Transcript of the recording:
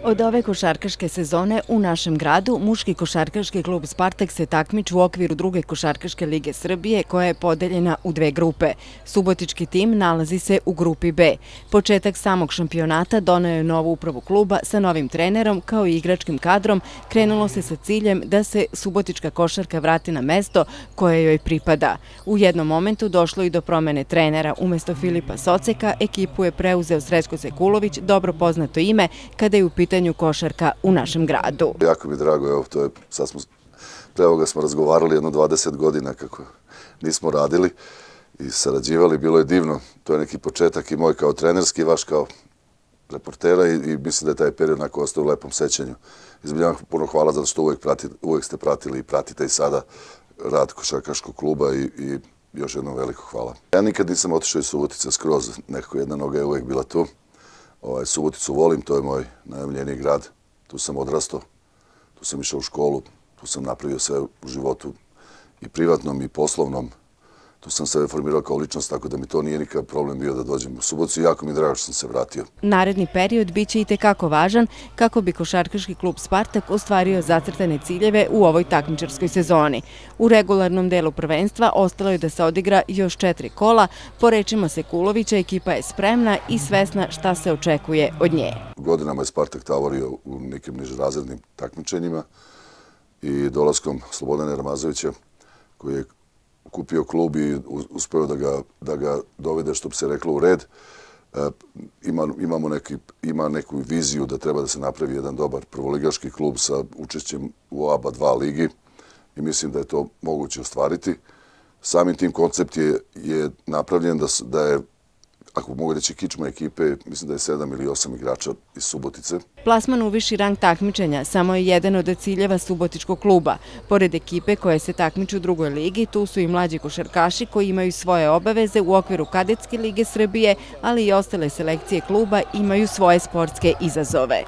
Od ove košarkaške sezone u našem gradu muški košarkaški klub Spartak se takmiči u okviru druge košarkaške lige Srbije koja je podeljena u dve grupe. Subotički tim nalazi se u grupi B. Početak samog šampionata doneo je novu upravu kluba sa novim trenerom kao i igračkim kadrom. Krenulo se sa ciljem da se subotička košarka vrati na mesto koje joj pripada. U jednom momentu došlo i do promene trenera. Umesto Filipa Soceka ekipu je preuzeo Srećko Sekulović, dobro poznato ime kada je u pitanju košarka u našem gradu. Jako mi je drago, evo, pre ovoga smo razgovarali jedno 20 godina kako nismo radili i sarađivali, bilo je divno. To je neki početak i moj kao trenerski i vaš kao reportera i mislim da je taj period onako ostao u lepom sećanju. Izbiljam puno hvala zato što uvijek ste pratili i pratite i sada rad košarkaškog kluba i još jednom veliko hvala. Ja nikad nisam otišao iz Subotice skroz, nekako jedna noga je uvijek bila tu. Suboticu volim, to je moj najomiljeniji grad, tu sam odrastao, tu sam išao u školu, tu sam napravio sve u životu i privatnom i poslovnom. Tu sam sebe formirao kao ličnost, tako da mi to nije nikakav problem bio da dođem u Suboticu i jako mi je drago što sam se vratio. Naredni period biće i tekako važan kako bi košarkaški klub Spartak ostvario zacrtane ciljeve u ovoj takmičarskoj sezoni. U regularnom delu prvenstva ostalo je da se odigra još 4 kola. Po rečima Sekulovića, ekipa je spremna i svesna šta se očekuje od nje. Godinama je Spartak tavorio u nekim nižerazrednim takmičenjima i dolaskom Slobodana Ramazovića, koji je kupio klub i uspeo da ga dovede, što bi se reklo, u red. Ima neku viziju da treba da se napravi jedan dobar prvoligaški klub sa učešćem u ABA 2 ligi i mislim da je to moguće ostvariti. Samim tim koncept je napravljen da je, ako mogu reći, kičma ekipe, mislim da je 7 ili 8 igrača iz Subotice. Plasman u viši rang takmičenja samo je jedan od ciljeva subotičkog kluba. Pored ekipe koje se takmiču u drugoj ligi, tu su i mlađi košarkaši koji imaju svoje obaveze u okviru Kadetske lige Srbije, ali i ostale selekcije kluba imaju svoje sportske izazove.